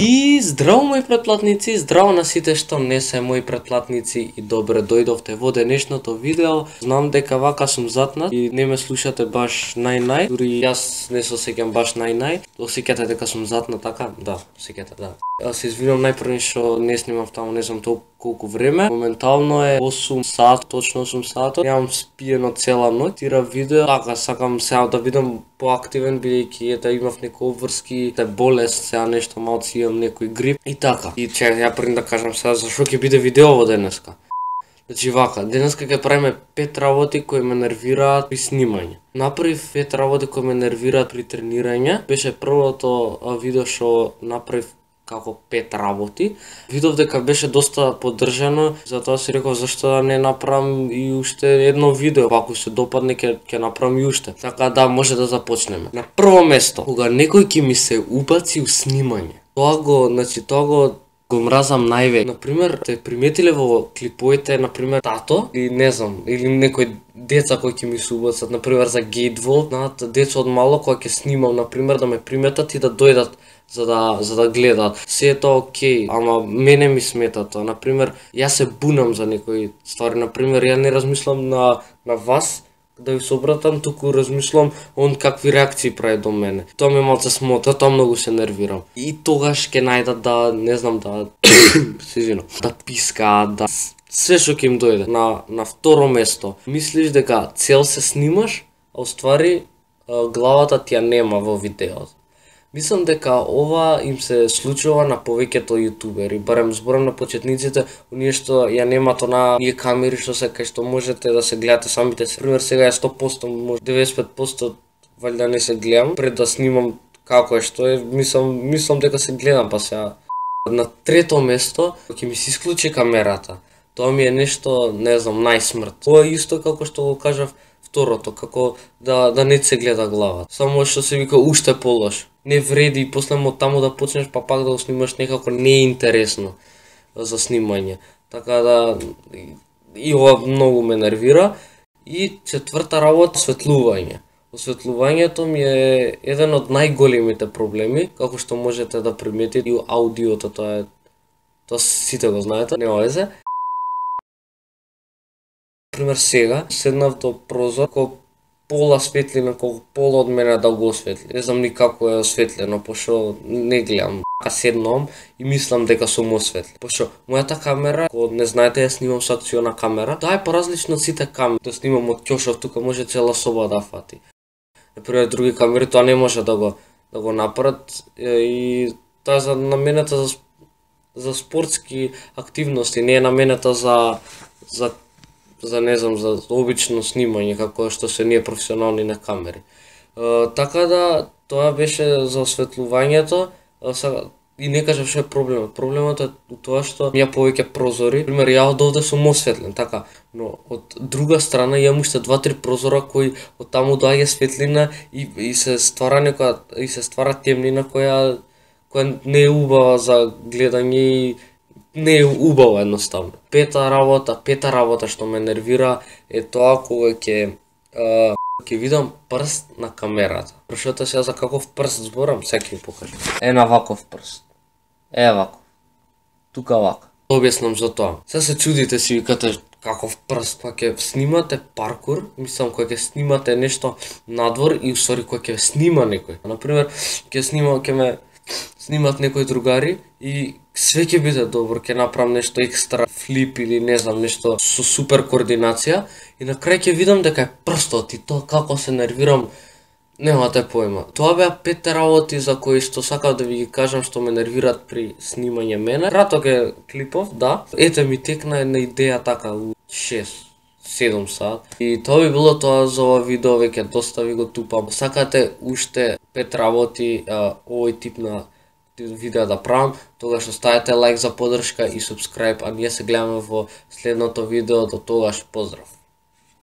И здраво мои претплатници, здраво на сите што не се мои претплатници и добре дојдовте во денешното видео. Знам дека вака сум затнат и не ме слушате баш нај-нај, дури јас не се осеќам баш нај-нај. Осеќате дека сум затнат така? Да, осеќате, да. Се извинувам најпрво што не снимав таму не знам толку колку време. Моментално е 8 сат, точно 8 сата. Немам спиено цела ноќ, тира видео. Така сакам сега да бидам поактивен бидејќи ета имав некои обврски, болест, сега нешто малку имам некој грип и така. И ја пред да кажам сега зашо ќе биде видеово денеска. Значи вака, денеска ќе правиме 5 работи кои ме нервираат при снимање. Направив 5 работи кои ме нервираат при тренирање. Беше првото видео што направив како 5 работи. Видов дека беше доста поддржано, затоа си реков зашто да не направам и уште едно видео, ако се допадне ќе направам и уште. Така да може да започнеме. На прво место, кога некој ќе ми се убаци у снимање, тоа го мразам највеќе. Например, те приметиле во клиповите, например, тато или не знам, или некои деца кои ќе ми се убацат, например за Гейтвол, знаат, деца од мало кои ќе снимам, например, да ме приметат и да дојдат за да гледаат. Се е тоа окей, ама мене ми смета тоа. Например, јас се бунам за некои ствари. Например, ја не размислам на вас да ви се обратам, туку размислам он какви реакции прави до мене. Тоа ме малце смота, тоа многу се нервирам. И тогаш ќе најдат да, не знам, да да пискаат, да се што ќе им дојде. На второ место, мислиш дека цел се снимаш, а уствари главата ти ја нема во видеото. Мислам дека ова им се случува на повеќето јутубери, барем зборам на почетниците, оние што ја немат оние камери што се кај што можете да се гледате самите се. Пример сега ја 100%, може 95% валјда не се гледам пред да снимам како е што е, мислам дека се гледам па сега. На трето место ќе ми се исклучи камерата. Тоа ми е нешто, не знам, најсмрт. Тоа е исто како што го кажав второто, како да не се гледа главата. Само што се вика уште полош. Не вреди и после од таму да почнеш па пак да го снимаш некако не е интересно за снимање. Така да и ова многу ме нервира. И четврта работа, осветлување. Осветлувањето ми е еден од најголемите проблеми, како што можете да приметите и аудиото, тоа сите го знаете, нема везе. Пример сега седнав до прозор, колку пола светлина, колку пола од мене да го осветли. Не знам ни како е осветлено, пошто не гледам. Седнам и мислам дека сум осветли. Пошто мојата камера, ако не знаете, ја снимам со акциона камера, тоа е поразлично од сите камери. Да снимам од ќошов, тука може цела соба да фати. Например, други камери тоа не може да го направат и тоа е наменета за спортски активности, не е наменета за не знам, за обично снимање, како што се ние професионални на камери. Така да, тоа беше за осветлувањето, и не кажав што е проблемот. Проблемот е тоа што ја повеќе прозори. Пример, ја од овде сум осветлен, така, но од друга страна имам уште 2-3 прозора кои од таму доаѓа светлина и се ствара темнина која не е убава за гледање и не е убаво едноставно. Пета работа што ме нервира е тоа кога ќе видам прст на камерата. Прошто сега за каков прст зборам, сега ќе ви покажам. На ваков прст. Ваков. Тука вака. Објаснам за тоа. Сега се чудите си викате каков прст, кога ќе снимате паркур, мислам кога ќе снимате нешто надвор и усвари кога ќе снима некој. Например, ќе ме снимат некои другари и све ќе биде добро, ќе направам нешто екстра флип или не знам, нешто со супер координација и на крај ќе видам дека е прстот и тоа како се нервирам, немате појма. Тоа беа 5 работи за кои што сакав да ви ги кажам што ме нервираат при снимање мене. Краток е клипов, да. Ете ми текна една идеја така у 6-7 сат. И тоа би било тоа за ова видео, веќе доста ви го тупам. Сакате уште 5 работи овој тип на видео да правам, тогаш оставете лайк за поддршка и субскрайб, а ние се гледаме во следното видео. До тогаш, поздрав!